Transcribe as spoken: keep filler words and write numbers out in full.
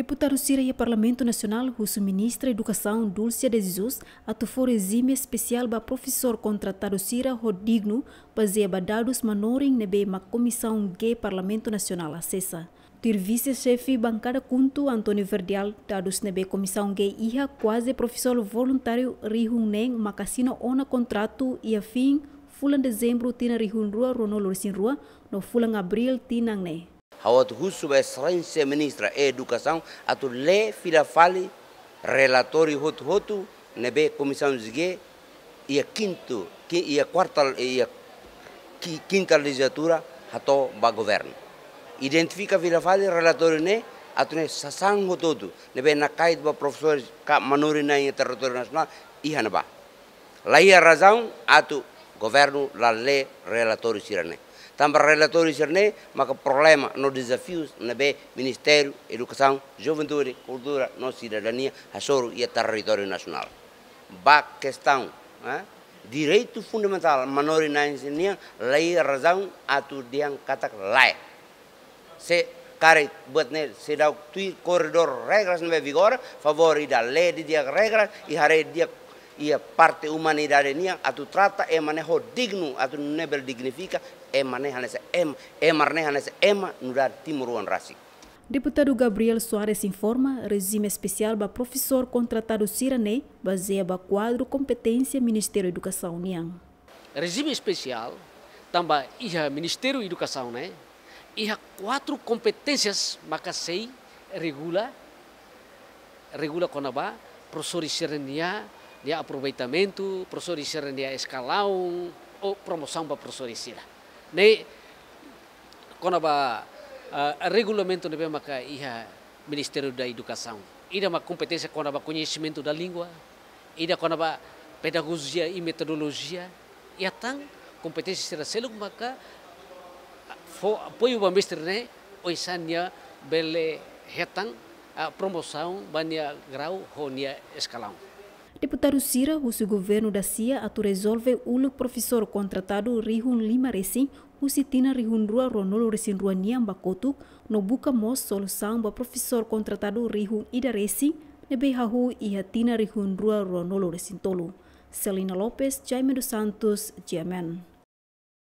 Deputadu sira iha Parlamentu Nasionál husu Ministra Edukasaun Dulce de Jesus atu fó rejime espesiál ba profesór kontratadu sira ho dignu, bazeia ba dadus manorin ne'ebé mak Komisaun G Parlamentu Nasionál asesa. Tuir Vise-Xefe Bankada KHUNTO, António Verdial, dadus ne'ebé Komisaun G iha, kuaze profesór voluntáriu rihun neen maka asina ona kontratu iha fin fulan Dezembru tinan rihun rua ruanulu-resin-rua no fulan Abríl tinan ne'e. Ha'u atu husu ba Exelénsia Ministra Edukasaun atu lee fila fali relatóriu hotu-hotu ne'ebé Komisaun G iha kintu, ki-, iha kuarta, iha ki-, kinta lejizlatura hato'o ba governu. Identifika fila fali relatóriu ne'e atu nune'e sasán hotu-hotu ne'ebé nakait ba profesores ka manorin na'in iha territóriu nasionál iha ne'ebá. La iha razaun atu governu la lee relatóriu sira-ne'e. Tanba relatóriu sira-ne'e maka problema no dezafius ne'ebé Ministériu Edukasaun, Juventude, Kultura no Sidadania hasoru iha territóriu nasionál. Ba kestaun, eh, direitu fundamentál manorin na'in sira-nian, la iha razaun atu dehan katak lae. Se karik buat ne'e seidauk tuir koridór regras ne'ebé vigora, favór ida lee didi'ak regras, i haree didi'ak iha parte umanidade nian atu trata ema ne'e ho dignu, atu nune'e bele dignifika ema ne'e hanesan ema, ema ne'e hanesan ema nu'udar timoroan rasik. Deputadu Gabriel Soares informa, rejime espesiál ba profesór kontratadu sira-ne'e bazeia ba kuadru kompeténsia Ministériu Edukasaun nian. Rejime espesiál tanba iha Ministériu Edukasaun ne'e iha kuatru kompeténsias maka sei regula, regula kona-ba profesores sira-nia, nia aproveitamentu, profesores sira-nia eskalaun ou promosaun ba profesores sira. Ne'e kona-ba, eh, regulamentu ne'ebé maka iha Ministériu da Edukasaun. Ida mak kompeténsia kona-ba koñesimentu da língua, ida kona-ba pedagojia i metodolojia, i atan kompeténsia sira seluk maka fó apoiu ba mestre ne'e, oinsá nia bele hetan, ah, promosaun ba nia grau ho nia eskalaun. Deputadu sira husu governu dasia atu rezolve uluk profesór kontratadu rihun lima resin husi tinan rihun rua ruanulu-resin-rua nian ba kotuk, no buka mós solusaun ba profesór kontratadu rihun ida resin ne'ebé hahú iha tinan rihun rua ruanulu-resin-tolu. Celina Lopes, Jaime dos Santos, G M N.